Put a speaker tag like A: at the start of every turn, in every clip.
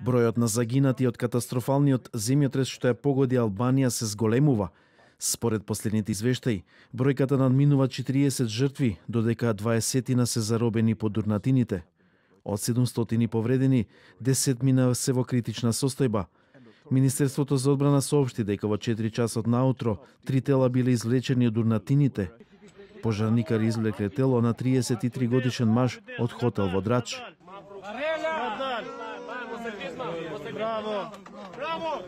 A: Бројот на загинати од катастрофалниот земјотрес што ја погоди Албанија се зголемува. Според последните извештаи, бројката надминува 40 жртви, додека 20 се заробени по дурнатините. Од 700 повредени, 10 се во критична состојба. Министерството за одбрана соопшти дека во 4 часот наутро 3 тела биле извлечени од дурнатините. Пожарникари извлекле тело на 33 годишен маж од хотел во Драч.
B: Браво! Браво!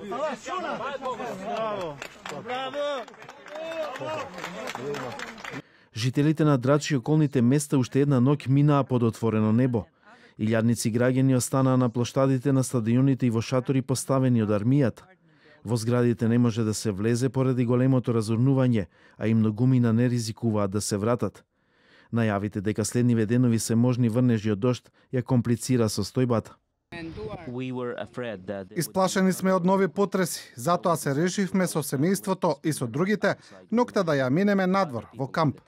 B: Браво!
A: Жителите на Драч и околните места уште една ноќ минаа под отворено небо. Илјадници граѓани останаа на плоштадите на стадионите и во шатори поставени од армијата. Во зградите не може да се влезе поради големото разурнување, а и многумина не ризикуваат да се вратат. Најавите дека следниве денови се можни врнежи од дожд ја комплицира состојбата.
C: Исплашени сме од нови потреси, затоа се решивме со семејството и со другите ноќта да ја минеме надвор, во камп.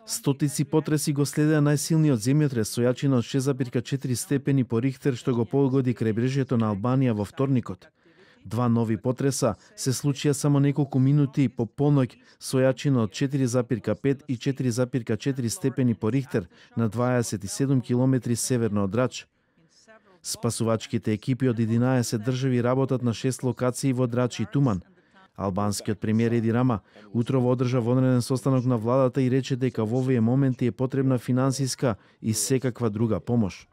A: Стотици потреси го следеа најсилниот земјотрес со јачина од 6,4 степени по Рихтер што го погоди крајбрежјето на Албанија во вторникот. Два нови потреса се случија само неколку минути по полноќ со јачина од 4,5 и 4,4 степени по Рихтер на 27 километри северно од Драч. Спасувачките екипи од 11 држави работат на 6 локации во Драч и Туман. Албанскиот премиер Еди Рама утрово одржа вонреден состанок на владата и рече дека во овие моменти е потребна финансиска и секаква друга помош.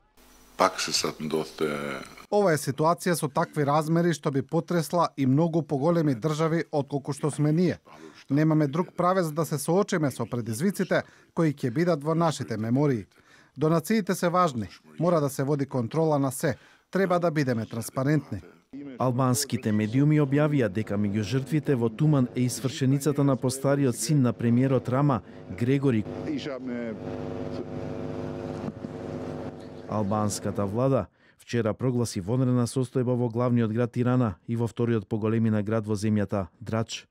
C: Ова е ситуација со такви размери што би потресла и многу поголеми држави отколку што сме ние. Немаме друг правец да се соочиме со предизвиците кои ќе бидат во нашите мемории. Донациите се важни, мора да се води контрола на се, треба да бидеме транспарентни.
A: Албанските медиуми објавија дека меѓу жртвите во Туман е и свршеницата на постариот син на премиерот Рама, Грегори. Албанската влада вчера прогласи вонредна состојба во главниот град Тирана и во вториот по големина град во земјата, Драч.